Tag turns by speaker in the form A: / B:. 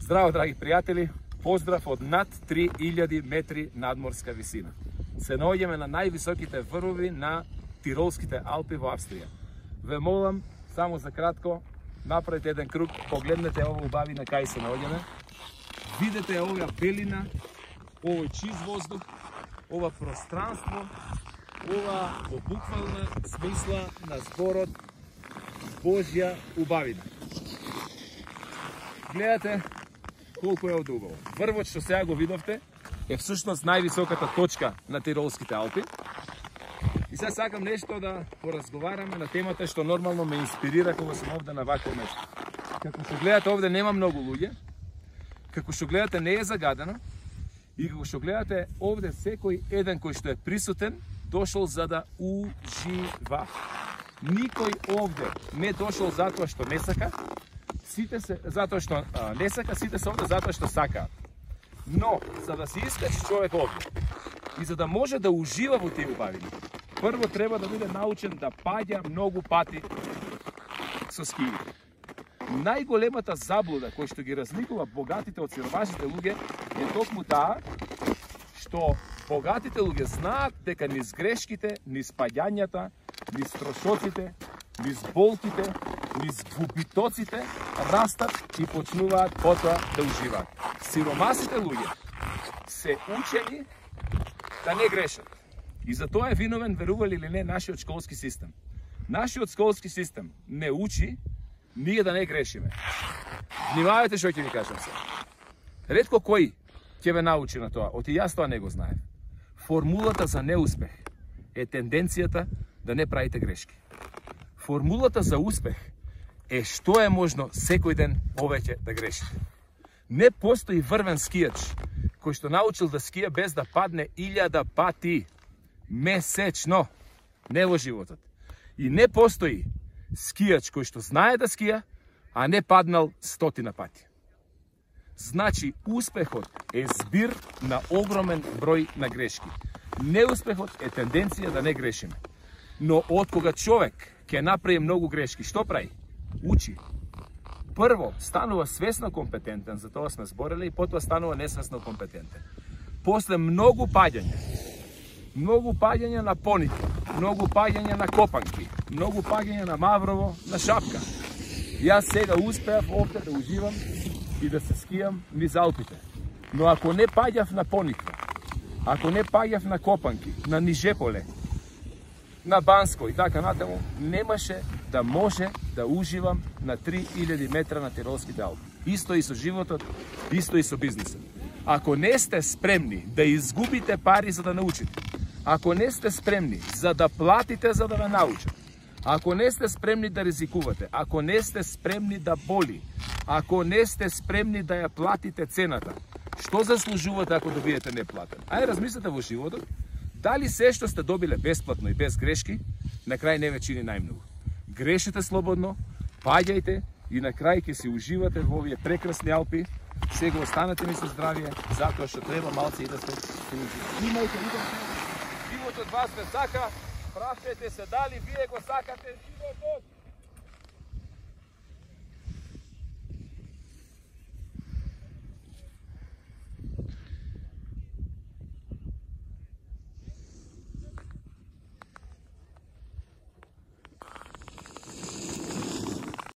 A: Здраво, драги пријатели, поздрав од над 3000 метри надморска висина. Се наоѓаме на највисоките врвови на Тиролските Алпи во Австрија. Ве молам, само за кратко, направите еден круг, погледнете ова убавина кај се наоѓаме. Видете оваа белина, овој чист воздух, ова пространство, ова во буквална смисла на зборот Божја убавина. Гледате колку е одубаво. Врвот што сега го видовте е всушност највисоката точка на Тиролските Алпи. И сега сакам нешто да поразговараме на темата што нормално ме инспирира кога сум овде на вакво место. Како што гледате овде нема многу луѓе, како што гледате не е загадено и како што гледате овде секој еден кој што е присутен дошол за да ужива. Никој овде не дошол затоа што не сака, сите се затоа што не сака, сите се овде затоа што сакаат. Но за да се искачи човек овде и за да може да ужива во тие убавини, прво треба да биде научен да паѓа многу пати со скиите. Најголемата заблуда која што ги разликува богатите од сиромашните луѓе е токму таа што богатите луѓе знаат дека низ грешките, низ паѓањата, низ трошоците, низ болките, низ губитоците растат и почнуваат потоа да уживаат. Сиромасите луѓе се учени да не грешат. И за тоа е виновен, верували или не, нашиот школски систем. Нашиот школски систем не учи ние да не грешиме. Внимавајте што ќе ви кажам се. Ретко кој ќе ве научи на тоа, оти јас тоа не го знаев. Формулата за неуспех е тенденцијата да не правите грешки. Формулата за успех е што е можно секој ден повеќе да грешите. Не постои врвен скијач кој што научил да скија без да падне 1000 пати месечно, не во животот. И не постои скијач кој што знае да скија, а не паднал 100 пати. Значи, успехот е збир на огромен број на грешки. Неуспехот е тенденција да не грешиме. Но од кога човек ќе направи многу грешки, што прави? Учи. Прво, станува свесно компетентен, за тоа сме зборели, и потоа станува несвесно компетентен. После многу паѓања на Пониква, многу паѓања на Копанки, многу паѓања на Маврово, на Шапка. Јас сега успеав овде да уживам и да се скијам низ Алпите. Но ако не паѓав на Пониква, ако не паѓав на Копанки, на Нижеполе, на Банско и така натаму, немаше да може да уживам на 3000 метра на Тиролските Алпи. Исто и со животот, исто и со бизнисот. Ако не сте спремни да изгубите пари за да научите, ако не сте спремни за да платите за да ве научат, ако не сте спремни да ризикувате, ако не сте спремни да боли, ако не сте спремни да ја платите цената, што заслужувате ако добиете неплатен? Ајде размислете во животот, дали се што сте добиле бесплатно и без грешки, на крај не ве чини најмногу. Грешите слободно, паѓајте и на крај ќе си уживате во овие прекрасни Алпи. Сега останете ми со здравје, затоа што треба малце и да се имајте животот вас ве сака, прашајте се дали вие го сакате животот.